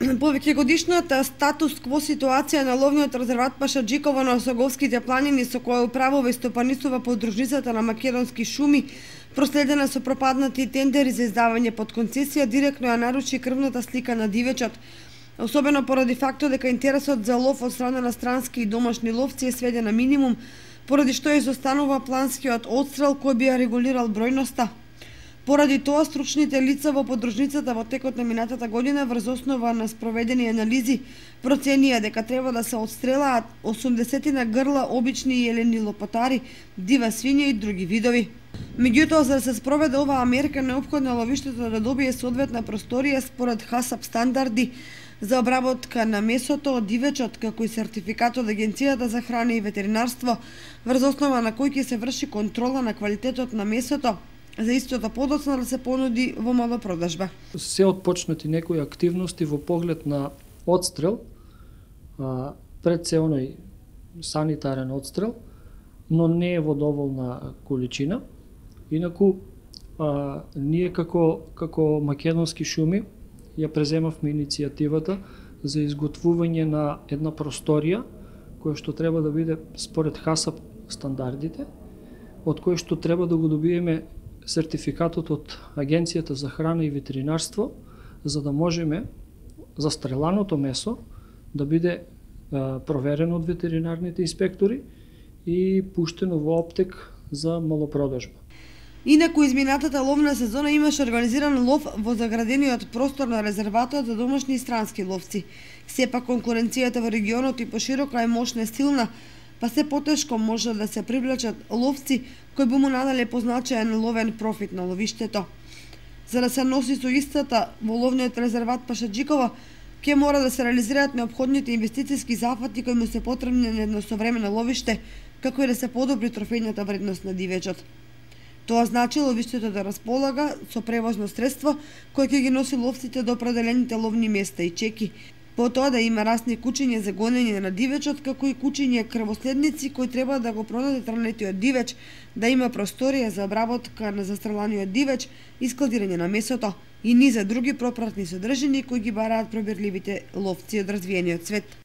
Повеќегодишната статус-кво ситуација на ловниот резерват Пашаџиково на Осоговските планини, со која управува и стопанисува подружницата на Македонски шуми, проследена со пропаднати тендери за издавање под концесија, директно ја наруши крвната слика на дивечот, особено поради фактот дека интересот за лов од страна на странски и домашни ловци е сведен на минимум, поради што изостанува планскиот одстрел кој би ја регулирал бројноста. Поради тоа, стручните лица во подружницата во текот на минатата година врз основа на спроведени анализи проценија дека треба да се отстрелаат 80 на грла обични јелени лопатари, дива свиња и други видови. Меѓутоа, за да се спроведе оваа мерка, неопходно ловиштето да добие соодветна просторија според ХАСАП стандарди за обработка на месото од дивечот, како и сертификат од Агенцијата за храна и ветеринарство, врз основа на кој ќе се врши контрола на квалитетот на месото, за истото подоцна да се понуди во малопродажба. Се отпочнати некои активности во поглед на одстрел, пред се оној санитарен одстрел, но не е во доволна количина. Инаку, ние како Македонски шуми ја преземавме иницијативата за изготвување на една просторија која што треба да биде според ХАСАП стандардите, од кој што треба да го добиеме сертификатот од Агенцијата за храна и ветеринарство, за да можеме застреланото месо да биде проверено од ветеринарните инспектори и пуштено во оптек за малопродажба. Инаку изминатата ловна сезона имаше организиран лов во заградениот простор на резерватот за домашни и странски ловци. Сепак конкуренцијата во регионот и поширока е мощна и силна, па се потешко може да се привлечат ловци кои би му наделе позначаен ловен профит на ловиштето. За да се носи со истата во ловниот резерват Пашаџиково, ќе мора да се реализираат неопходните инвестициски зафати кои му се потребни на едно современо ловиште, како и да се подобри трофејната вредност на дивечот. Тоа значи ловиштето да располага со превозно средство кое ќе ги носи ловците до определените ловни места и чеки, потоа да има расни кучиња за гонење на дивечот, како и кучиња крвоследници кои треба да го продадат ранетиот дивеч, да има просторија за обработка на застреланиот дивеч и складирање на месото и низа други пропратни содржини кои ги бараат пробирливите ловци од развиениот свет.